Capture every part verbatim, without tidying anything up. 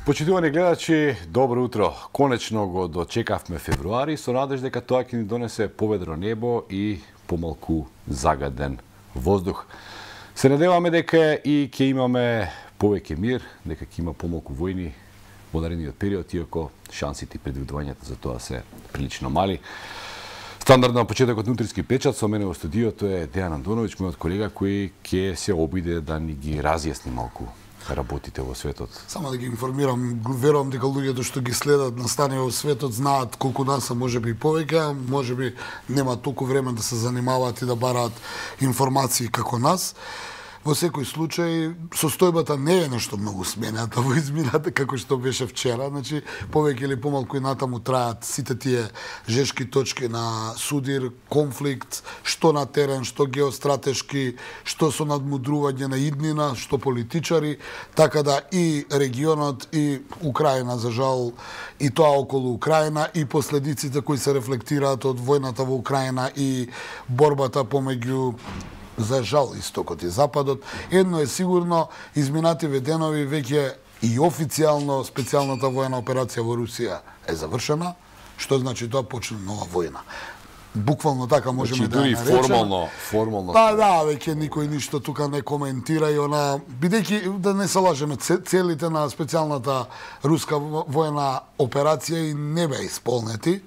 Почитувани гледачи, добро утро. Конечно го дочекавме февруари со надеж дека тоа ќе ни донесе поведро небо и помалку загаден воздух. Се надеваме дека и ќе имаме повеќе мир, дека ќе има помалку војни во наредниот период, иако шансите и предвидувањата за тоа се прилично мали. Стандардно на почетокот на утрински печат со мене во студиото е Дејан Андоновиќ, мојот колега кој ќе се обиде да ни ги разјасни малку работите во светот. Само да ги информирам, верувам дека луѓето што ги следат настани во светот знаат колку нас, може би повеќе, може би нема толку време да се занимаваат и да бараат информации како нас. Во секој случај, состојбата не е нешто многу смената во измината како што беше вчера, значи повеќе или помалку и натаму траат сите тие жешки точки на судир, конфликт, што на терен, што геостратешки, што со надмудрување на иднина, што политичари, така да и регионот и Украина, за жал, и тоа околу Украина и последиците кои се рефлектираат од војната во Украина и борбата помеѓу, за жал, истокот и западот. Едно е сигурно, изминативе денови веќе и официјално специјалната војна операција во Русија е завршена, што значи тоа почне нова војна. Буквално така можеме значи, да ја наречеме. формално, формално. Па да, веќе никој ништо тука не коментира и она, бидејќи да не се лажеме, целите на специјалната руска војна операција и не беа исполнети.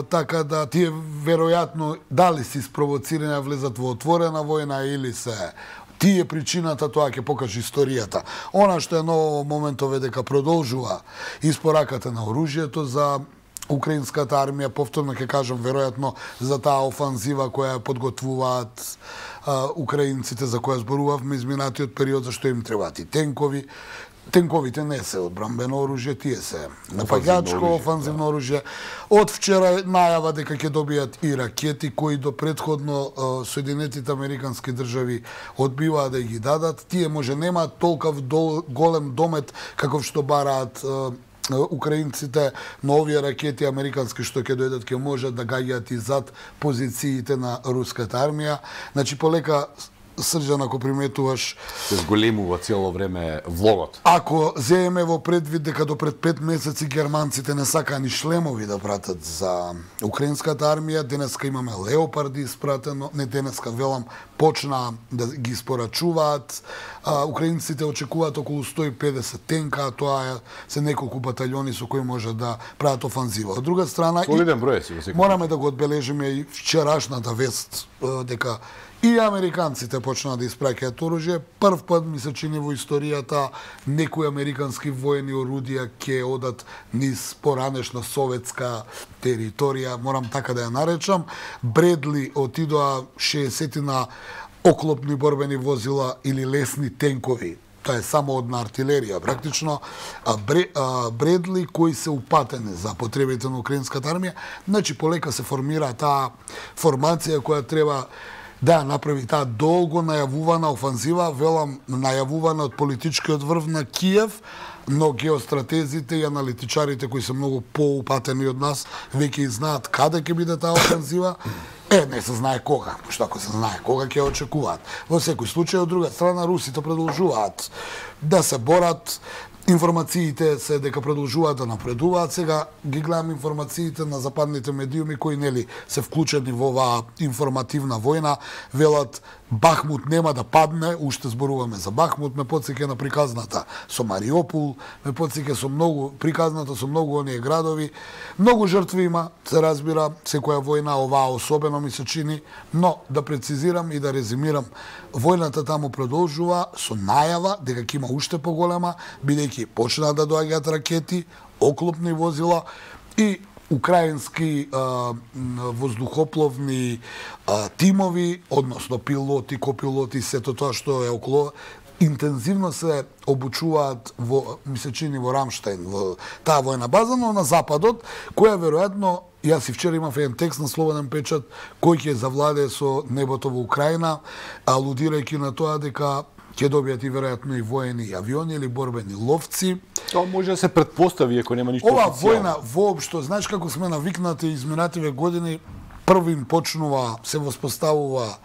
Така да тие веројатно дали се испровоцирани да влезат во отворена војна или се тие причината, тоа ќе покаже историјата. Она што е ново во моментов е дека продолжува испораката на оружјето за украинската армија, повторно ќе кажам веројатно за таа офанзива која подготвуваат а, украинците, за која зборувавме изминатиот период, зашто им требаат и тенкови. Тенковите не се одбрамбено оружје, тие се напаѓачко, офанзивно оружје. Од вчера најава дека ќе добијат и ракети кои до претходно Соединетите американски држави одбиваа да ги дадат. Тие може немаат толков голем домет каков што бараат украинците, но овие ракети американски што ќе дојдат ќе можат да гаѓаат и зад позициите на руската армија. Значи полека, Срđан, ако приметуваш, се зголемува цело време влогот. Ако земеме во предвид дека до пред пет месеци германците не сакаа ни шлемови да пратат за украинската армија, денеска имаме леопарди испратено, не денеска, велам, почна да ги испорачуваат. А, украинците очекуваат околу сто и педесет тенка, а тоа е се неколку батальони со кои може да прават офанзива. Од друга страна, солиден број си во секој. Мораме да го одбележиме и вчерашната вест дека и американците почнаа да испраќаат оружје. Прв пат ми се чини во историјата некои американски воени орудија ќе одат низ поранешна советска територија, морам така да ја наречам. Бредли отидоа шеесетина оклопни борбени возила или лесни тенкови. Тоа е само одна артилерија, практично. А Бре, а, Бредли кои се упатени за потребите на украинската армија. Значи полека се формира таа формација која треба да направи таа долго најавувана офанзива, велам најавувана од политичкиот врв на Киев, но геостратезите и аналитичарите кои се многу поупатени од нас веќе знаат каде ќе биде таа офанзива. Е, не се знае кога, што ако се знае кога ќе очекуваат. Во секој случај, од друга страна, русите продолжуваат да се борат. Информациите се дека продолжуваат да напредуваат. Сега ги гледам информациите на западните медиуми кои нели се вклучени во оваа информативна војна. Велат Бахмут нема да падне, уште зборуваме за Бахмут, ме потсеќа на приказната со Мариопол, ме потсеќа со многу приказната со многу оние градови. Многу жртви има, се разбира, секоја војна, оваа особено ми се чини, но да прецизирам и да резимирам, војната таму продолжува со најава дека ќе има уште поголема, бидејќи почнаа да доаѓаат ракети, оклопни возила и украински а, воздухопловни а, тимови, односно пилоти, копилоти, сето тоа што е околу, интензивно се обучуваат во, ми се чини во Рамштайн, во таа војна база, но на западот, која веројатно, јас и вчера имав еден текст на Слободен печат, кој ќе завладее со небото во Украина, алудирајќи на тоа дека ќе добијат и веројатно и воени авиони или борбени ловци. Тоа може да се претпостави ако нема ништо Ова официјално. војна воопшто, знаеш како сме навикнати изминативе години, првим почнува, се воспоставува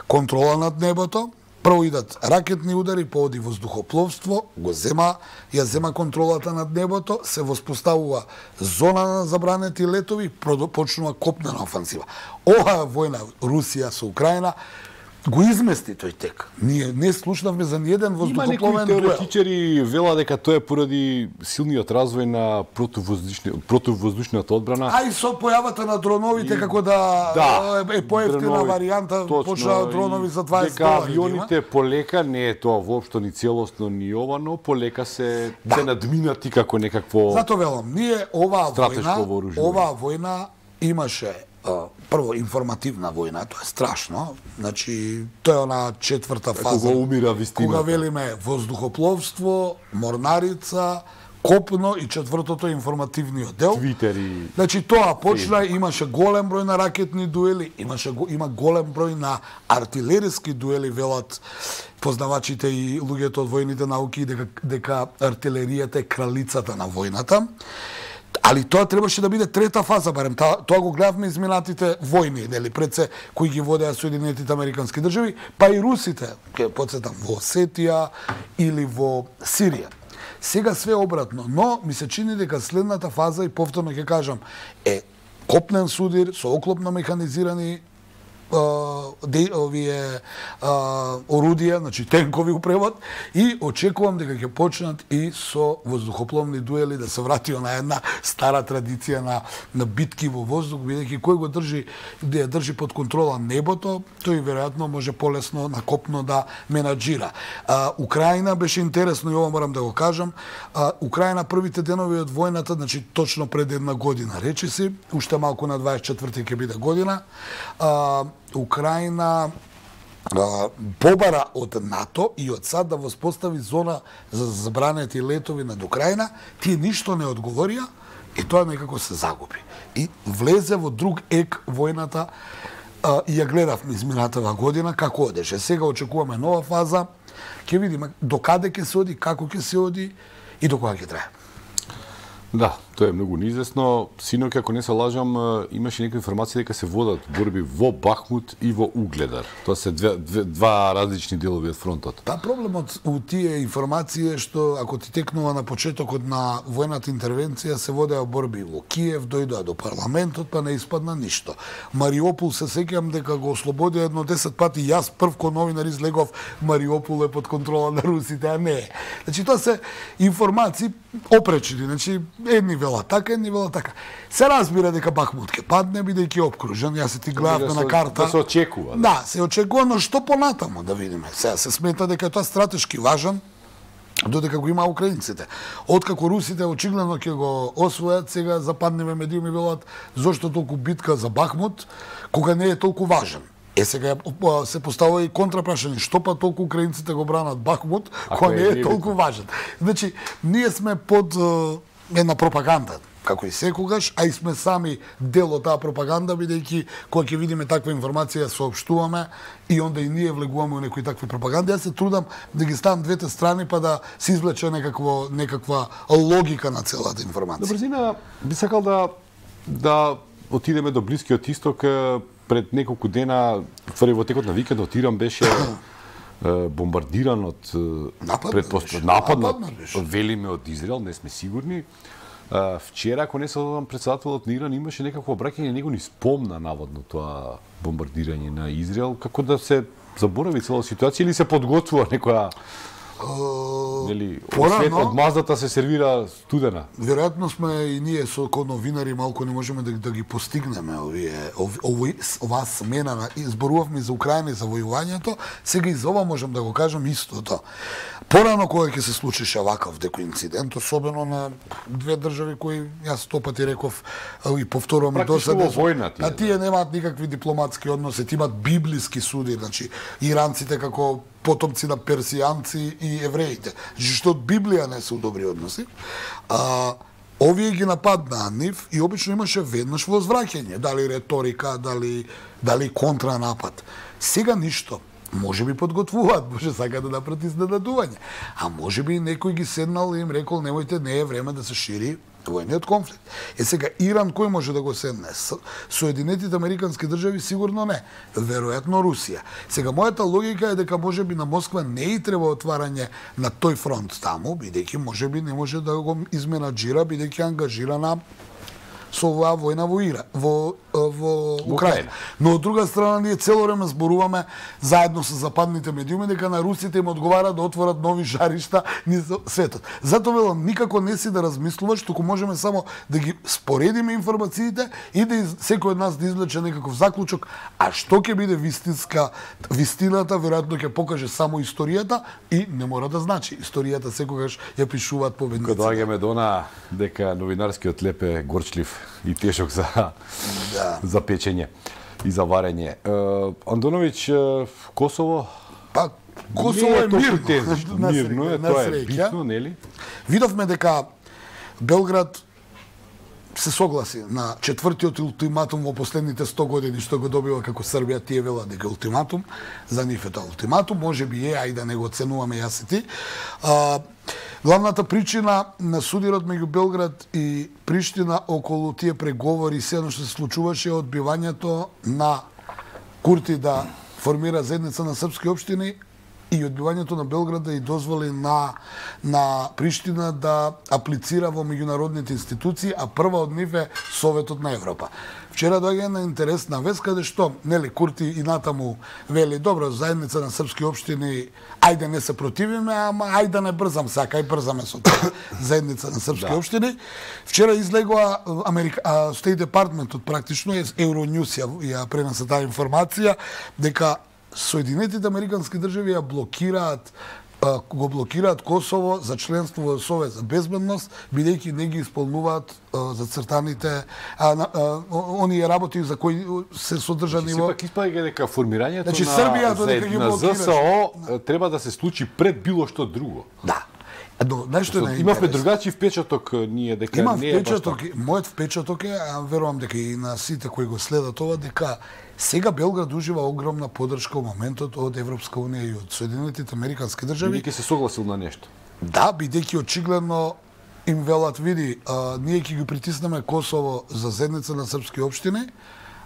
контрола над небото, Прво идат ракетни удари, пооди воздухопловство, го зема, ја зема контролата над небото, се воспоставува зона на забранети летови, почнува копнена офанзива. Оваа војна Русија со Украина го измести тој тек. Ние не слушнавме за ниеден воздухопловен дуел. Има некои теоретичари вела дека тоа е поради силниот развој на противвоздушни, противвоздушната одбрана. А и со појавата на дроновите, и... како да, да е поевтина варијанта, почнаа дронови за дваесет долари. Дека авионите полека, не е тоа воопшто ни целосно ни ова, но полека се, да. се надминати како некакво Зато велам, ние оваа војна, оваа војна имаше прво информативна војна, тоа е страшно. Значи, тоа е она четврта фаза. Кога умира вистината. Кога велиме воздухопловство, морнарица, копно и четвртото информативниот дел. Твитери. Значи, тоа почна, имаше голем број на ракетни дуели, имаше има голем број на артилериски дуели, велат познавачите и луѓето од војните науки дека, дека артилеријата е кралицата на војната. Али тоа требаше да биде трета фаза, барем тоа, тоа го гледавме изминатите војни, нели, пред се кои ги водеа Соединетите Американски држави, па и русите, ќе потсетам, во Осетија или во Сирија. Сега све обратно, но ми се чини дека следната фаза, и повторно ќе кажам, е копнен судир со оклопно механизирани де, овие а, орудија, значи тенкови упревод, и очекувам дека ќе почнат и со воздухопловни дуели да се врати на една стара традиција на, на битки во воздух, бидејќи кој го држи, да ја држи под контрола небото, тој веројатно може полесно на копно да менаџира. А, Украина беше интересно, и ова морам да го кажам, а, Украина првите денови од војната, значи точно пред една година, речиси, уште малку на дваесет и четврти ќе биде година, а, Украина а, побара од НАТО и од САД да воспостави зона за забранети летови над Украина, тие ништо не одговорија и тоа некако се загуби. И влезе во друг ек војната а, и ја гледавме изминатава година како одеше. Сега очекуваме нова фаза, ќе видиме до каде ќе се оди, како ќе се оди и до кога ќе трае. Да, тоа е многу неизвестно. Синоќ, ако не се лажам, имаше некои информации дека се водат борби во Бахмут и во Угледар. Тоа се две, две, два различни делови од фронтот. Па проблемот у тие информации е што ако ти текнува на почетокот на војната интервенција се водеа борби во Киев, дојдоа до парламентот, па не испадна ништо. Мариопол се сеќавам дека го ослободи едно десет пати, јас прв ко новинар излегов, Мариопол е под контрола на русите, а не. Значи тоа се информации опречени, значи едни велат така, едни велат така. Се разбира дека Бахмут ќе падне, бидејќи опкружен. Јас се ти гледавме на карта. Да се очекува. Да, да се очекува, но што понатаму да видиме. Сега се смета дека тоа стратешки важен, додека го има украинците. Откако русите очигледно ќе го освојат, сега западниве медиуми велат зошто толку битка за Бахмут, кога не е толку важен. Е, сега се поставува и контрапрашање, што па толку украинците го бранат Бахмут, кога не е толку важен. Значи, ние сме под една пропаганда, како и секогаш, а и сме сами дел од таа пропаганда, бидејќи кога ќе видиме таква информација соопштуваме и онда и ние влегуваме во некои такви пропаганди. Јас се трудам да ги ставам двете страни па да се извлече некакво некаква логика на целата информација. На брзина би сакал да да отидеме до Блискиот исток. Пред неколку дена, во текот на викендот, Иран беше бомбардиран од предпоставка нападнат, велиме од Израел, не сме сигурни. Вчера, ако не се лажам, председателот на Иран имаше некакво обраќање, него ни спомна наводно тоа бомбардирање на Израел, како да се заборави цела ситуација или се подготвува некоја нели, свет од маздата се сервира студена. Веројатно сме и ние со ко новинари малку не можеме да, да ги постигнеме овие ови, оваа смена на изборувавме за Украина и за војувањето, сега и за ова можам да го кажам истото. Порано кога ќе се случише ваков деко инцидент, особено на две држави кои јас сто пати реков и повторувам и досаде, а тие немаат никакви дипломатски односи, имаат библиски суди, значи иранците како потомци на персијанци и евреите. Што од Библија не се добри односи. А, овие ги нападнаа нив и обично имаше веднаш возвраќање, дали реторика, дали, дали контранапад. Сега ништо. може би подготвуваат, може сака да направат изненадување. А може би некој ги седнал и им рекол немојте, не е време да се шири војниот конфликт. Е сега Иран кој може да го седне? Соединетите Американски држави сигурно не. Веројатно Русија. Сега мојата логика е дека можеби на Москва не и треба отварање на тој фронт таму, бидејќи можеби не може да го изменаџира, бидејќи ангажирана со оваа војна во Ира, во во Украина. Но од друга страна ние цело време зборуваме заедно со западните медиуми дека на русите им одговара да отворат нови жаришта низ светот. Затоа велам никако не си да размислуваш, туку можеме само да ги споредиме информациите и да из, секој од нас да извлече некаков заклучок, а што ќе биде вистинска вистината веројатно ќе покаже само историјата и не мора да значи. Историјата секогаш ја пишуваат победниците. Кога доаѓаме до она дека новинарскиот леп е горчлив и тешок за да. за печење и за варење. Е, Андоновиќ, Косово па Косово е, е мирно. Тезично, мирно е, тоа е битно, нели? Видовме дека Белград се согласи на четвртиот ултиматум во последните сто години што го добива како Србија, тие велат дека ултиматум, за нив е тоа ултиматум, можеби е, ајде да не го оценуваме јас и ти. А, главната причина на судирот меѓу Белград и Приштина околу тие преговори, се едно што се случуваше, е одбивањето на Курти да формира заедница на српски општини и одбивањето на Белград да и дозволи на на Приштина да аплицира во меѓународните институции, а прва од нив е Советот на Европа. Вчера доаѓа една интересна вест каде што нели Курти и натаму вели добро заедница на српски општини, ајде не се противиме, ама ајде да не брзам сака, ај брзаме со тоа заедница на српски да. општини. Вчера излегува Америка State Departmentот практично е Euronews ја, ја пренесе таа информација дека Соединетите Американски држави ја блокираат го блокираат Косово за членство во Совет за безбедност, бидејќи не ги исполнуваат зацртаните а, а, оние работи за кои се содржани во... Сепак испаѓа дека формирањето значи, на, Србија, за, на ЗСО треба да се случи пред било што друго. Да. Но, нешто е имавме другачи впечаток ние дека Имам не е впечаток, мојот впечаток е, а верувам дека и на сите кои го следат ова, дека сега Белград ужива огромна поддршка во моментот од Европска унија и од Соединетите Американски држави. Бидејќи се согласил на нешто. Да, бидејќи очигледно им велат, види, а, ние ќе ги притиснеме Косово за заедница на српски општини,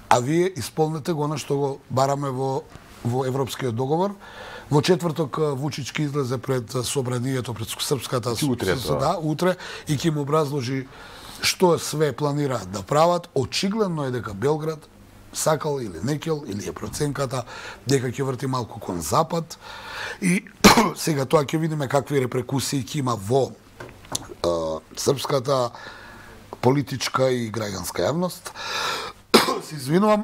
а вие исполнете го она што го бараме во во Европскиот договор. Во четврток Вучич ќе излезе пред собранието, пред српската утре, да, утре и ќе им образложи што све планираат да прават. Очигледно е дека Белград сакал или некел, или е проценката дека ќе врти малку кон запад. И сега тоа ќе видиме какви репрекусии ќе има во е, српската политичка и граѓанска јавност. Се извинувам.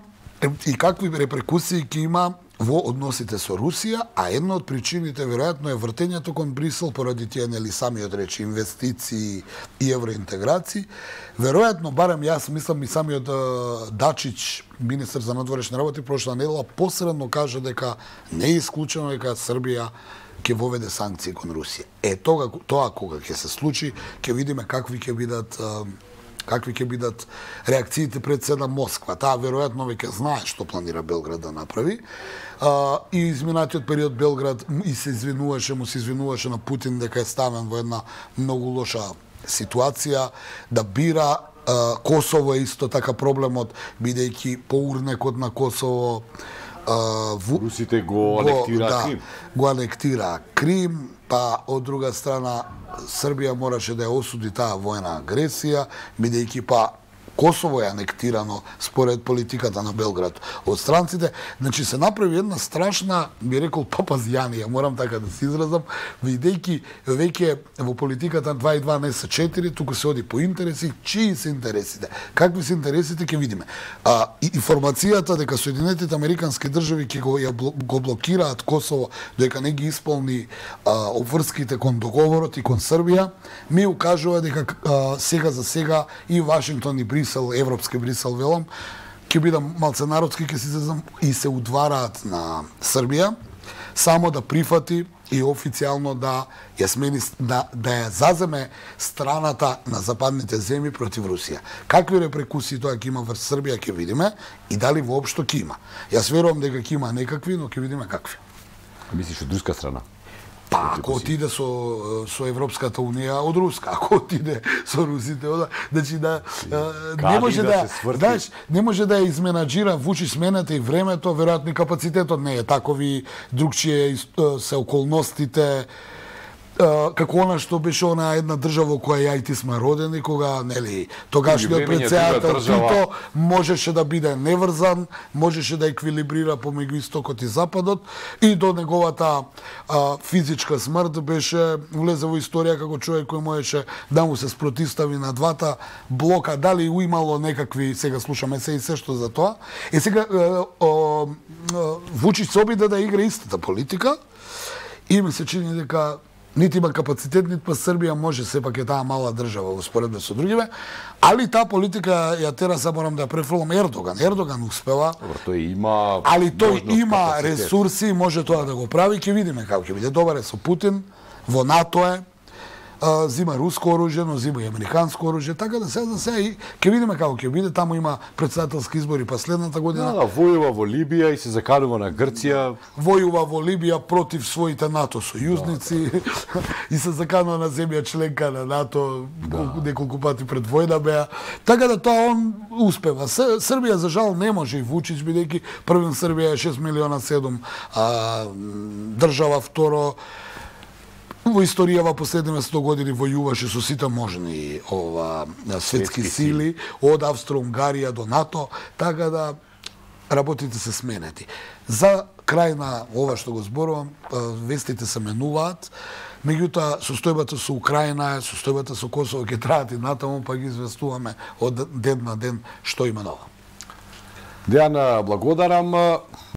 И какви репрекусии ќе има во односите со Русија, а една од причините веројатно е вртењето кон Брисел поради тие нели самиот речи инвестиции и евроинтеграции. Веројатно, барем јас мислам и самиот Дачич, министер за надворешни работи, прошла недела посредно кажа дека не е исклучено дека Србија ќе воведе санкции кон Русија. Е тоа тоа кога ќе се случи, ќе видиме какви ќе бидат какви ќе бидат реакциите пред седа Москва. Таа веројатно веќе знае што планира Белград да направи. А, и изминатиот период Белград и се извинуваше, му се извинуваше на Путин дека е ставен во една многу лоша ситуација, да бира. А, Косово е исто така проблемот, бидејќи по урнекот на Косово а, в... Русите го анектира да, Крим. Го анектира Крим, па од друга страна Србија мораше да ја осуди таа војна агресија, бидејќи па Косово е анектирано според политиката на Белград од странците. Значи се направи една страшна, би рекол, папазјанија, морам така да се изразам, бидејќи веќе во политиката два и два не се четири, туку се оди по интереси, чии се интересите. Какви се интересите ќе видиме. А, информацијата дека Соединетите Американски држави ќе го, го блокираат Косово, дека не ги исполни а, обврските кон договорот и кон Србија, ми укажува дека а, сега за сега и Вашингтон и Брисел, европски Брисел велам, ќе бидам малце народски, ќе се изразам, и се удвараат на Србија, само да прифати и официјално да ја смени, да, да ја заземе страната на западните земји против Русија. Какви репрекусии тоа ќе има врз Србија ќе видиме и дали воопшто ќе има. Јас верувам дека ќе има некакви, но ќе видиме какви. Мислиш од руска страна? Па, ако отиде со, со Европската Унија од Руска, ако отиде со русите, ода, значи да, не може да, да знаеш, не може да ја изменаџира Вучич смената и времето, веројатно и капацитетот не е такови, другчие се околностите, како она што беше она една држава во која ја и ти сме родени, кога, нели, тогашниот председател Тито можеше да биде неврзан, можеше да еквилибрира помеѓу истокот и западот, и до неговата а, физичка смрт беше влезе во историја како човек кој можеше да му се спротивстави на двата блока, дали уимало некакви, сега слушаме се и се што за тоа. И сега а, а, Вучич се обиде да игра истата политика и ми се чини дека нити има капацитет, нити па Србија може, сепак е таа мала држава во споредба со другиве, али таа политика ја тера, са морам да ја префрлам Ердоган. Ердоган успела. Добро, тој има али тој има капацитет, ресурси, може тоа да го прави, ќе видиме како ќе биде. Добар е со Путин, во НАТО е, а, зима руско оружје, но зима и американско оружје, така да се за се и ќе видиме како ќе биде. Таму има председателски избори последната година. Да, да, војува во Либија и се заканува на Грција. Војува во Либија против своите НАТО сојузници да. И се заканува на земја членка на НАТО да. Неколку пати пред војна беа. Така да тоа он успева. Србија за жал не може и Вучич, бидејќи првен Србија е шест милиона седум а, држава, второ во историјава последниве сто години војуваше со сите можни ова светски сили, од Австро-Унгарија до НАТО, така да работите се сменети. За крај на ова што го зборувам, вестите се менуваат, меѓутоа состојбата со Украина, состојбата со Косово ќе траат и натаму, па ги известуваме од ден на ден што има ново. Дејан, благодарам.